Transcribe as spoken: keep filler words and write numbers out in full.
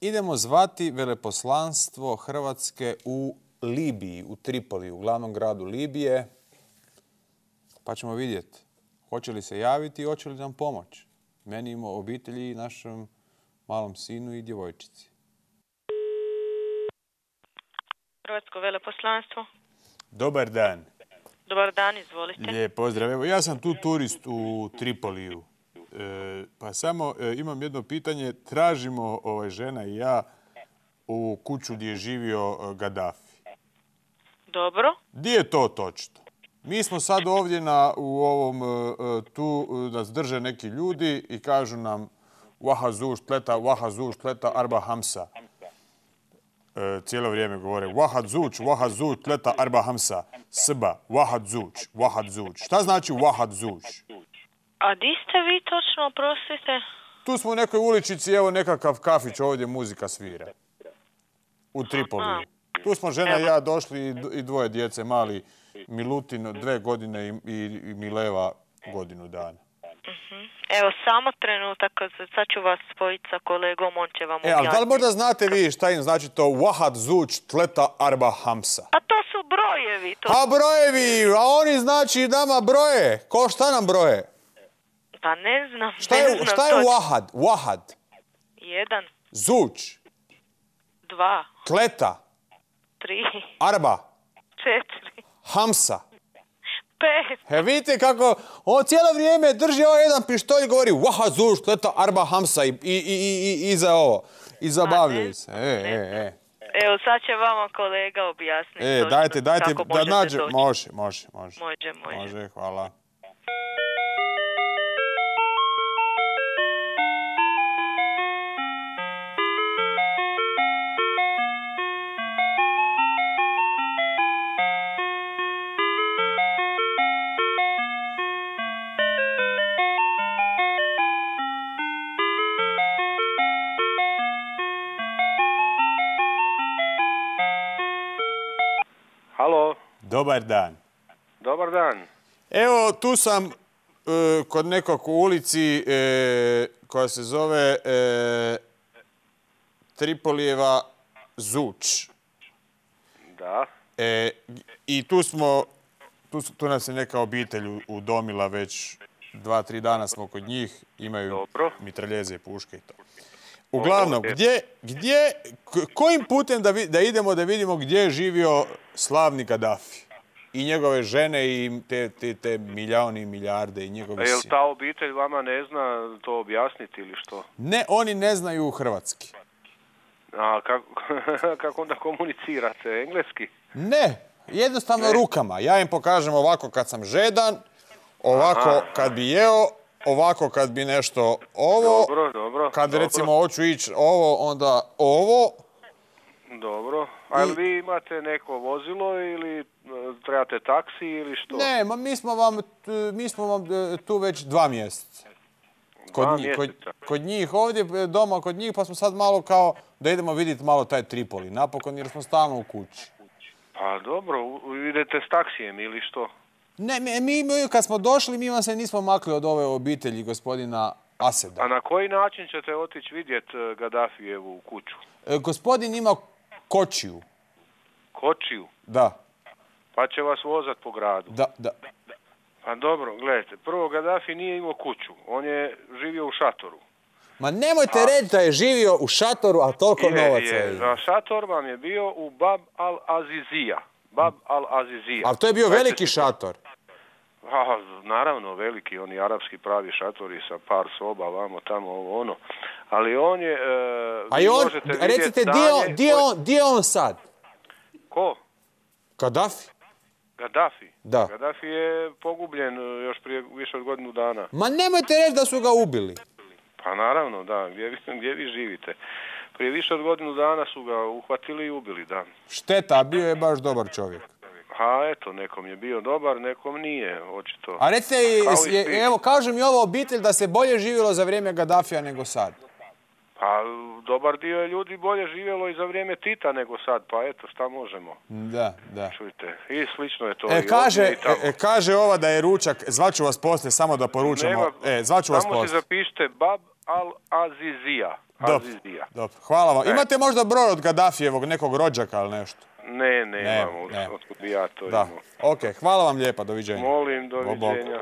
idemo zvati veleposlanstvo Hrvatske u Libiji, u Tripoli, u glavnom gradu Libije. Pa ćemo vidjeti hoće li se javiti i hoće li nam pomoći. Meni i obitelji i našem malom sinu i djevojčici. Hrvatsko veleposlanstvo. Dobar dan. Dobar dan, izvolite. Lijep pozdrav. Evo, ja sam tu turist u Tripoliju. E, pa samo e, imam jedno pitanje. Tražimo, ovaj, žena i ja, u kuću gdje je živio e, Gaddafi. Dobro. Gdje je to točno? Mi smo sad ovdje na, u ovom, e, tu nas drže neki ljudi i kažu nam Wahazuš tleta, Wahazuš tleta, Arba Hamsa. E, cijelo vrijeme govore Wahazuč, Wahazuč tleta, Arba Hamsa. Sba, Wahazuč, Wahazuč. Šta znači Wahazuč? A di ste vi točno, prostite? Tu smo u nekoj uličici, evo nekakav kafić, ovdje muzika svira. U Tripoliju. Tu smo žena i ja došli i dvoje djece, mali Milutin dve godine i, i, i Mileva godinu dana. Uh-huh. Evo, samo trenutak, sad ću vas spojiti sa kolegom, on će vam objasniti. E, ali da li možda znate vi šta im znači to Wahazuč tleta Arba Hamsa? A to su brojevi. To... A brojevi, a oni znači nama broje. Ko šta nam broje? Pa ne znam. Šta je, ne znam šta je Wahad? Wahad. Jedan. Zuč. Dva. Tleta. Tri. Arba. Četiri. Hamsa. Pet. He, vidite kako on cijelo vrijeme drži ovaj jedan pištolj i govori Wahazuš tleta Arba Hamsa i, i, i, i, i za ovo. I zabavljaju se. E, e, e. Evo, sad će vama kolega objasniti. E, dajte, dajte, da nađe. Doći. Može, može, može. Može, može. Može, hvala. Halo. Dobar dan. Dobar dan. Evo, tu sam e, kod nekog u ulici e, koja se zove e, Tripolijeva Zuč. Da. E, I tu smo, tu, tu nas je neka obitelj udomila već dva, tri dana smo kod njih. Imaju Dobro. mitraljeze i puške i to. Uglavnom, gdje, gdje, kojim putem da, vi, da idemo da vidimo gdje je živio slavni Gaddafi? I njegove žene i te, te, te miljaoni i milijarde i njegove sine. Jel ta obitelj vama ne zna to objasniti ili što? Ne, oni ne znaju hrvatski. A kako, kako onda komunicirate? Engleski? Ne, jednostavno ne. Rukama. Ja im pokažem ovako kad sam žedan, ovako Aha. kad bi jeo, ovako kad bi nešto ovo. Dobro, dobro. Kad dobro. recimo hoću ići ovo, onda ovo. Dobro. A I... vi imate neko vozilo ili trebate taksi ili što? Ne, ma mi smo vam, mi smo vam tu već dva mjeseca. Kod, dva njih, kod, kod njih, ovdje doma kod njih, pa smo sad malo kao da idemo vidjeti malo taj Tripoli. Napokon jer smo stalno u kući. Pa dobro, idete s taksijem ili što? Ne, mi, mi kad smo došli, mi vam se nismo makli od ove obitelji gospodina Aseda. A na koji način ćete otići vidjeti Gaddafijevu kuću? E, gospodin ima kočiju. Kočiju? Da. Pa će vas vozat po gradu? Da, da. Pa dobro, gledajte, prvo Gaddafi nije imao kuću, on je živio u šatoru. Ma nemojte a... reći da je živio u šatoru, a toliko je, novaca je. Za šator vam je bio u Bab al-Azizija. Bab al-Azizija. A to je bio veliki šator? A, naravno, veliki, oni arapski pravi šatori sa par soba, vamo, tamo, ovo, ono. Ali on je... E, a i on, recite, di je on, di on sad? Ko? Gaddafi. Gaddafi? Da. Gaddafi je pogubljen još prije više od godinu dana. Ma nemojte reći da su ga ubili. Pa naravno, da. Gdje, gdje vi živite? Prije više od godinu dana su ga uhvatili i ubili, da. Šteta, a bio je baš dobar čovjek. A eto, nekom je bio dobar, nekom nije, očito. A recite, je, evo, kaže mi ova obitelj da se bolje živjelo za vrijeme Gaddafija nego sad. Pa, dobar dio je ljudi bolje živjelo i za vrijeme Tita nego sad, pa eto, šta možemo. Da, da. Čujte, i slično je to. E, i kaže, i e, kaže ova da je ručak, zvaću vas poslije samo da poručamo. Nema, e, zvaću vas samo poslije. Samo si zapišite Bab al-Azizija. Azizija. Dobro, hvala vam. E. Imate možda broj od Gaddafijevog nekog rođaka ili nešto? Ne, ne, Ne, imamo, ne. otkud bi ja to Da. imao. Ok, hvala vam lijepa, doviđenja. Molim, Bog, bog. doviđenja.